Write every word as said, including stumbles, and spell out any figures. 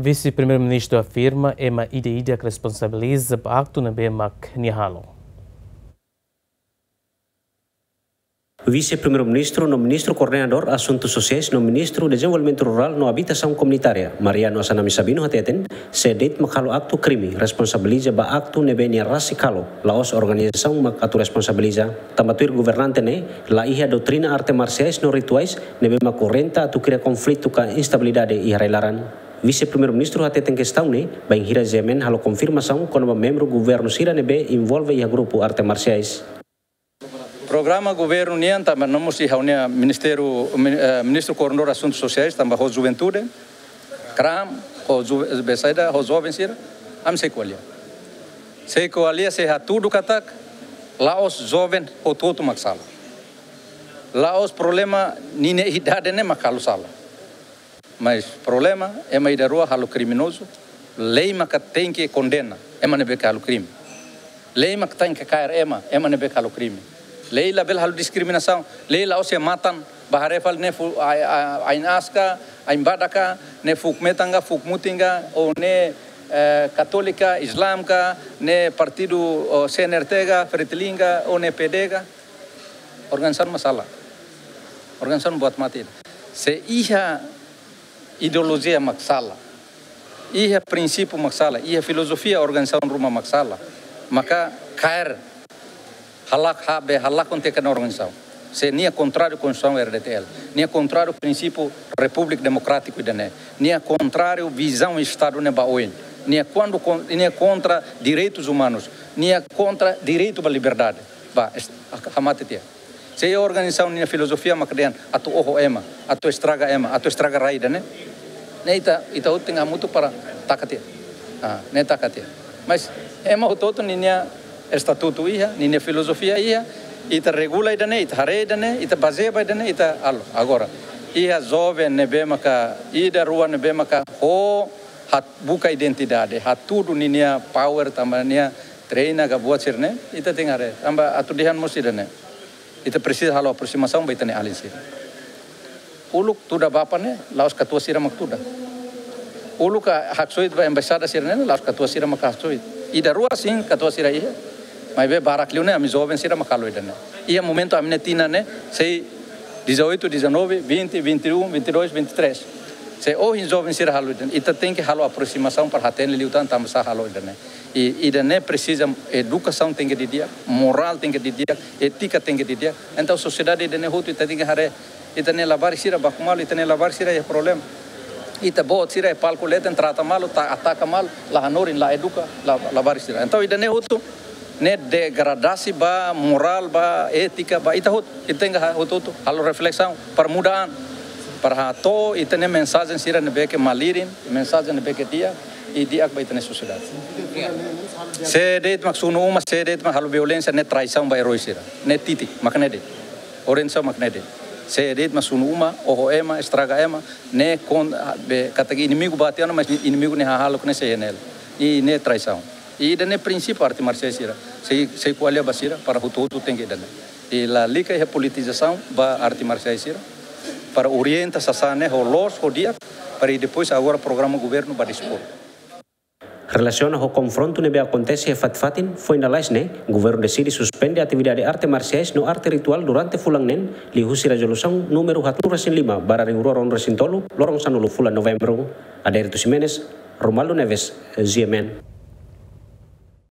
Vise-Primeiru-Ministru afirma ema ida-idak responsabiliza ba aktu ne'ebé mak nia halo. Vise-Primeiru-Ministru no Ministru Koordenadór Asuntu Sosiais no Ministru Dezenvolvimentu Rurál no Abitasaun Komunitária, Mariano Assanami Sabino hateten, sé de'it mak halo aktu krime, responsabiliza ba aktu ne'ebé nia rasik halo, la'ós organizasaun mak atu responsabiliza. Tanba tuir governante ne'e, la iha doutrina arte marsiais no rituais ne'ebé mak orienta atu kria konflitu ka instabilidade iha rai-laran. Vise-Primeiru-Ministru hateten kestaun ne'e, bainhira GMN halo konfirmasaun kona-ba membru governu sira ne'ebé envolve iha grupu arte marsiais. Programa governu nian tanba no mós iha ha'u-nia ministériu, min-, eh, Ministru Koordenadór Asuntu Sosiais, tanba ho juventude, kram, ho ju-, be saida, ho joven sira, ami sei ko'alia. Sei ko'alia, sei hatudu katak, la'ós joven hotu-hotu mak sala. La'ós problema ninia idade ne'e mak halo sala. Mas problema, ema ida-rua halo kriminozu, lei maka tenke kondena ema ne'ebé ke halo krime. Lei maka tenke kaer ema, ema ne'ebé ke halo krime. Lei labele halo diskriminasaun, lei la'ós iha matan, ba haree fali ne'e fu-, a-, a-, ain aas ka, ain badak ka, ne'e fuuk metan ka, fuuk mutin ka, ou ne'e, eh, katólika, Islam ka, ne'e partidu, oh, C N R T ka, Fretilin ka, ou ne'e P D ka. Organizasaun mak sala. Organizasaun buat mate. Se iha ideolojia mak sala, iha prinsípiu mak sala, iha filozofia organizasaun ruma mak sala, maka kaer halak, ha, be halakon tiha ona organizasaun. Se nia kontráriu Konstituisaun R D T L, nia kontráriu prinsípiu Repúblika Demokrátiku ida-ne'e, nia kontráriu vizaun Estadu ne'e ba oin, nia kuandu kon-, nia kontra direitus umanus, nia kontra direitu ba liberdade. Ba, est-, hamate tiha. Se iha organizasaun nia filozofia mak dehan atu oho ema, atu estraga ema, atu estraga rai ida-ne'e, ne'e ita, ita hotu tenke hamutuk para taka tiha. Ah, ne'e taka tiha. Mas ema hotu-hotu ninia estatutu iha, ninia filozofia iha, ita regula ida-ne'e, ita haree ida-ne'e, ita bazeia ba ida-ne'e, ita halo. Agora, iha joven ne'ebé maka, ida-rua ne'ebé maka ho hat-, buka identidade, hatudu ninia power tanba nia treina ka buat sira-ne'e, ita tenke haree. Tanba atu dehan mós ida-ne'e. Ita presiza halo aproximasaun ba ita-nia alin sira. Uluk tuda Bapa ne'e, la'ós katuas sira mak tuda. Uluk ka haksoit ba embaixada sira-ne'e, la'ós katuas sira mak haksoit. Ida-rua sin katuas sira iha. Maibé barak liu ne'e, ami joven sira mak halo ida-ne'e. Iha momentu ami-nia tinan ne'e, sei dezoito, dezanove, vinte, vinte e um, vinte e dois, vinte e três. Se ohin joven sira halo ida-ne'e, ita tenke halo aproximasaun para hatene liután tanbasá halo ida-ne'e. I, ida-ne'e presiza edukasaun tenke didi'ak, morál tenke didi'ak, étika tenke didi'ak. Entaun sosiedade ida-ne'e hotu ita tenke haree, ita-nia labarik sira baku malu, ita-nia labarik sira iha problema. Ita-boot sira iha palku leten trata malu, ta-, ataka malu, la hanorin, la eduka, la, labarik sira. Entaun ida-ne'e hotu ne'e degradasi ba morál, ba étika, ba ita hotu, ita tenke ha-, hotu-hotu halo reflesaun para muda an, para hato'o ita-nia mensajen sira ne'ebé ke malirin, mensajen ne'ebé ke di'ak, i di'ak ba ita-nia sosiedade. Sé de'it mak sunu uma, sé de'it mak halo violénsia, ne'e traisaun ba erói sira. Ne'e titik, mak ne'e de'it. Orientasaun mak ne'e de'it. Sé de'it mak sunu uma, oho ema, estraga ema, ne'e kon-, be, katak inimigu ba tiha ona, mas inimigu ne'e hahalok ne'e sei iha ne'e. I ne'e traisaun. I ida-ne'e prinsípiu arte marsiais sira. Sei, sei ko'alia ba sira, para hotu-hotu tenke ida-ne'e. I lalika iha politizasaun ba arte marsiais sira, para orienta sasán ne'e ho loos, ho di'ak, para i depois agora programa governu ba dispor. Relasiona ho konfrontu ne'ebé akontese iha fatin-fatin, foin lalais ne'e, governu deside suspende atividade arte marsiais no arte rituál durante fulan neen, liuhusi rezolusaun númeru haatnulu-resin-lima barra rihun rua ruanulu-resin-tolu, loron sanulu fulan Novembru. Adérito Ximenes, Romualdo Neves, G M N.